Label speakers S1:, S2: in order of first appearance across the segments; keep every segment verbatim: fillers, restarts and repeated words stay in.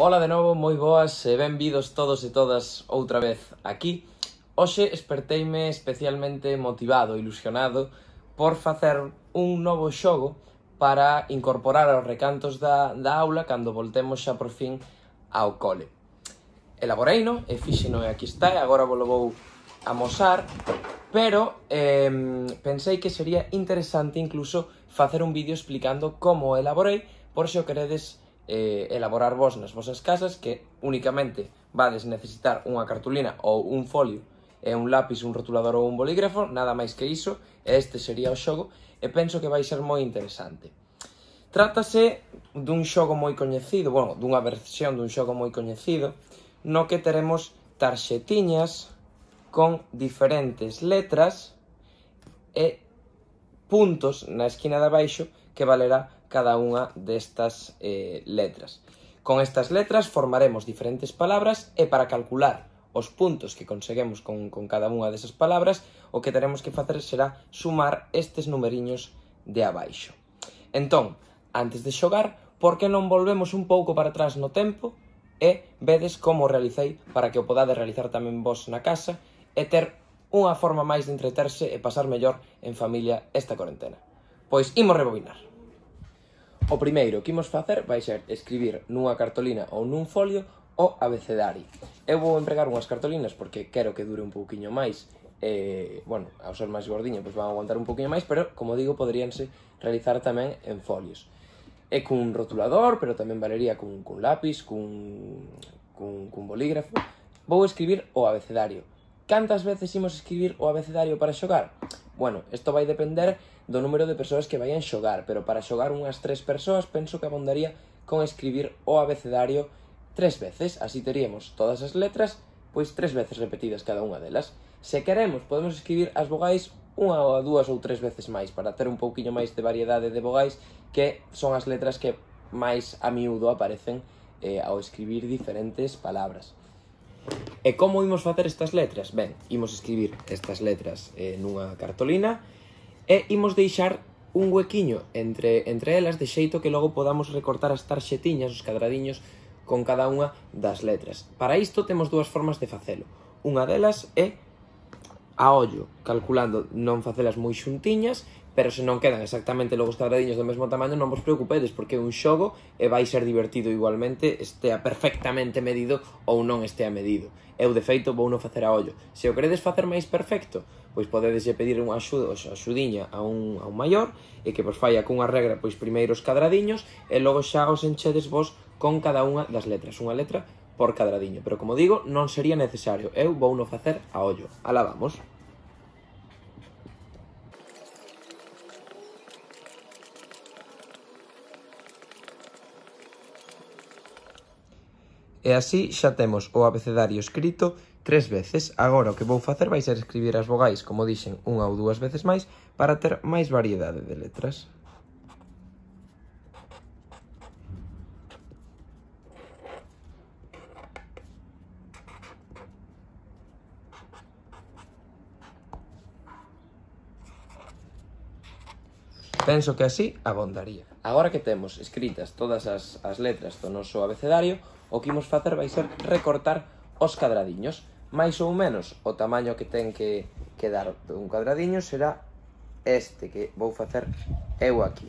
S1: Ola de novo, moi boas e benvidos todos e todas outra vez aquí. Hoxe esperteime especialmente motivado e ilusionado por facer un novo xogo para incorporar aos recantos da, da aula cando voltemos xa por fin ao cole. Elaboreino e fixeno e aquí está e agora vos lo vou amosar, pero eh, pensei que sería interesante incluso facer un vídeo explicando como elaborei por se o queredes eh, elaborar vos nas vosas casas, que únicamente vades necesitar unha cartulina ou un folio e un lápis, un rotulador ou un bolígrafo, nada máis que iso, e este sería o xogo, e penso que vai ser moi interesante. Trátase dun xogo moi coñecido, bueno, dunha versión dun xogo moi coñecido, no que teremos tarxetiñas con diferentes letras e puntos na esquina de abaixo que valerá cada unha destas eh, letras. Con estas letras formaremos diferentes palabras e para calcular os puntos que conseguemos con, con cada unha desas palabras, o que teremos que facer será sumar estes numeriños de abaixo. Entón, antes de xogar, por que non volvemos un pouco para atrás no tempo e vedes como o realicei para que o podades realizar tamén vos na casa e ter unha forma máis de entreterse e pasar mellor en familia esta cuarentena. Pois imos rebobinar. O primeiro que imos facer vai ser escribir nunha cartolina ou nun folio o abecedario. Eu vou empregar unhas cartolinas porque quero que dure un pouquiño máis e, bueno, ao ser máis gordiño, pois van a aguantar un pouquiño máis, pero, como digo, poderíanse realizar tamén en folios. E cun rotulador, pero tamén valería cun, cun lápis, cun, cun, cun bolígrafo. Vou escribir o abecedario. Cantas veces imos escribir o abecedario para xogar? Bueno, isto vai depender do número de persoas que vayan xogar, pero para xogar unhas tres persoas penso que abondaría con escribir o abecedario tres veces. Así teríamos todas as letras, pois tres veces repetidas cada unha delas. Se queremos, podemos escribir as vogais unha ou dúas ou tres veces máis, para ter un pouquiño máis de variedade de vogais, que son as letras que máis a miúdo aparecen eh, ao escribir diferentes palabras. E como imos facer estas letras? Ben, imos escribir estas letras eh, nunha cartolina e imos deixar un huequiño entre, entre elas de xeito que logo podamos recortar as tarxetiñas, os cadradiños con cada unha das letras. Para isto temos dúas formas de facelo. Unha delas é a ollo, calculando non facelas moi xuntiñas, pero se non quedan exactamente logo os cadradiños do mesmo tamaño, non vos preocupedes, porque é un xogo e vai ser divertido igualmente, estea perfectamente medido ou non estea medido. Eu, de feito, vou non facer a ollo. Se o queredes facer máis perfecto, pois podedeslle pedir unha axuda, axudiña a un, a un maior e que vos falla cunha regra, pois primeiro os cadradiños e logo xa os enchedes vos con cada unha das letras, unha letra por cadradiño. Pero, como digo, non sería necesario. Eu vou non facer a ollo. Alá vamos. E así xa temos o abecedario escrito tres veces. Agora o que vou facer vai ser escribir as vogais, como dixen, unha ou dúas veces máis, para ter máis variedade de letras. Penso que así abondaría. Agora que temos escritas todas as, as letras do noso abecedario, o que imos facer vai ser recortar os cadradiños. Mais ou menos o tamaño que ten que, que dar un cadradiño será este que vou facer eu aquí.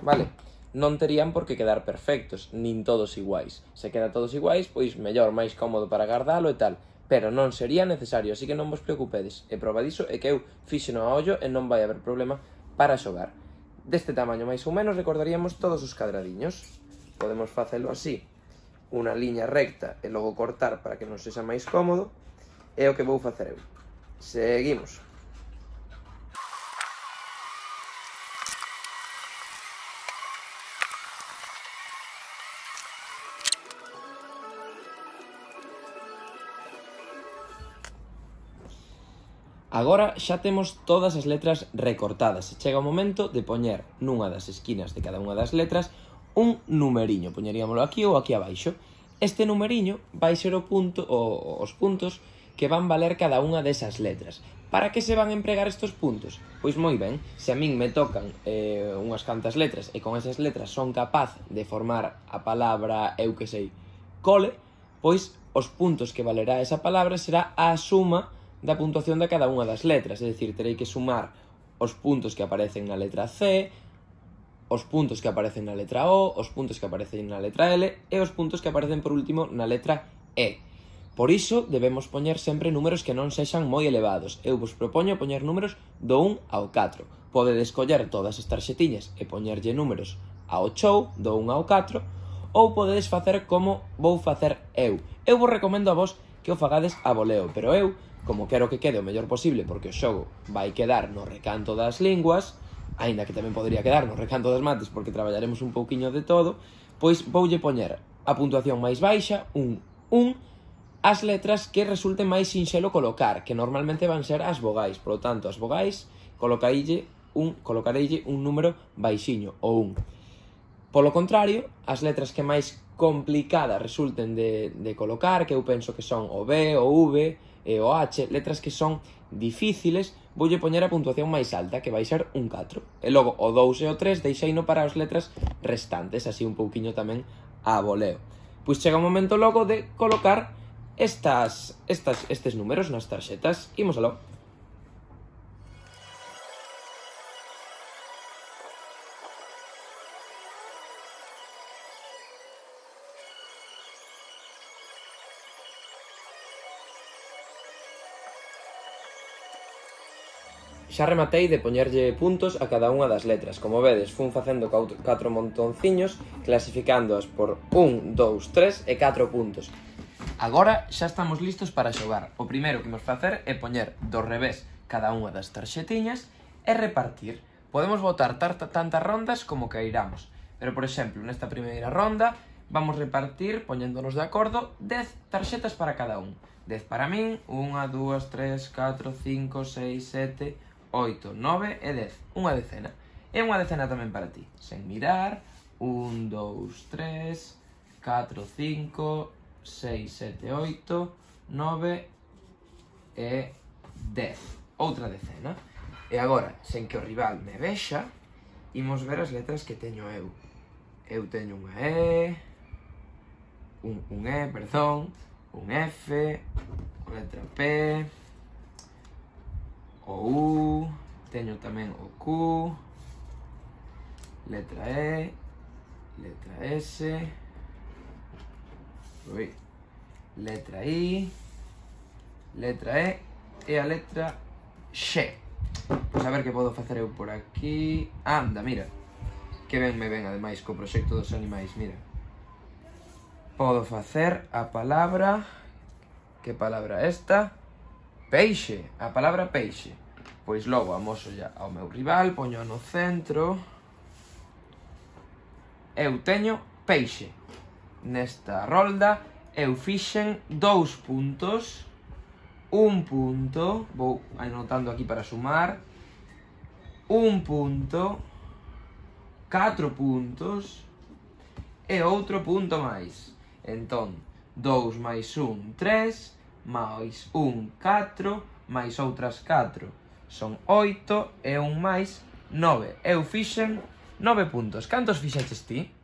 S1: Vale? Non terían por que quedar perfectos, nin todos iguais. Se queda todos iguais, pois mellor, máis cómodo para guardalo e tal. Pero non sería necesario, así que non vos preocupedes. E proba diso é que eu fixeno a ollo e non vai haber problema para xogar. Deste tamaño máis ou menos recordaríamos todos os cadradiños. Podemos facelo así, unha liña recta e logo cortar para que non sexa máis cómodo. É o que vou facer eu. Seguimos. Agora xa temos todas as letras recortadas e chega o momento de poñer nunha das esquinas de cada unha das letras un numeriño. Poñeríamolo aquí ou aquí abaixo. Este numeriño vai ser o punto, o, os puntos que van valer cada unha desas letras. Para que se van empregar estes puntos? Pois moi ben, se a min me tocan eh, unhas cantas letras e con esas letras son capaz de formar a palabra, eu que sei, cole, pois os puntos que valerá esa palabra será a suma da puntuación de cada unha das letras, é dicir, terei que sumar os puntos que aparecen na letra C, os puntos que aparecen na letra O, os puntos que aparecen na letra L e os puntos que aparecen por último na letra E. Por iso debemos poñer sempre números que non sexan moi elevados. Eu vos propoño poñer números do un ao catro. Podedes coller todas as tarxetiñas e poñerlle números ao chou, do un ao catro, ou podedes facer como vou facer eu. Eu vos recomendo a vos que o fagades a voleo, pero eu, como quero que quede o mellor posible, porque o xogo vai quedar no recanto das linguas, aínda que tamén podría quedar no recanto das mates, porque traballaremos un pouquiño de todo, pois voulle poñer a puntuación máis baixa, un un, as letras que resulten máis sinxelo colocar, que normalmente van ser as vogais. Por lo tanto, as vogais colocareille un, colocareille un número baixiño, o un. Polo contrario, as letras que máis complicadas resulten de, de colocar, que eu penso que son o B, o V e o H, letras que son difíciles, voulle poñer a puntuación máis alta, que vai ser un catro. E logo o dous e o tres deixeino para as letras restantes, así un pouquiño tamén a voleo. Pois chega o momento logo de colocar Estas, estas, estes números nas tarxetas. Imos aló. Xa rematei de poñerlle puntos a cada unha das letras. Como vedes, fun facendo catro montonciños, clasificándoas por un, dous, tres e catro puntos. Agora xa estamos listos para xogar. O primeiro que imos facer é poñer do revés cada unha das tarxetiñas e repartir. Podemos botar tantas rondas como queiramos. Pero, por exemplo, nesta primeira ronda vamos repartir, poñéndonos de acordo, dez tarxetas para cada un. dez para min, unha, dúas, tres, catro, cinco, seis, sete, oito, nove e dez. Unha decena. E unha decena tamén para ti. Sen mirar, un, dous, tres, catro, cinco, seis, sete, oito, nove e dez. Outra decena. E agora, sen que o rival me vexa, imos ver as letras que teño eu. Eu teño unha E, un, un E, perdón, un F, unha letra P, o U, teño tamén o Q, letra E, letra S, Ui. letra I, letra E e a letra X. Pois a ver que podo facer eu por aquí. Anda, mira, que ben me ven ademais co proxecto dos animais, mira. Podo facer a palabra, que palabra esta? Peixe, a palabra peixe. Pois logo amoso ya ao meu rival, poño no centro. Eu teño peixe. Nesta rolda eu fixen dous puntos, un punto, vou anotando aquí para sumar, un punto, catro puntos e outro punto máis. Entón, dous máis un, tres, máis un, catro, máis outras catro, son oito e un máis nove. Eu fixen nove puntos. Cantos fixeches ti?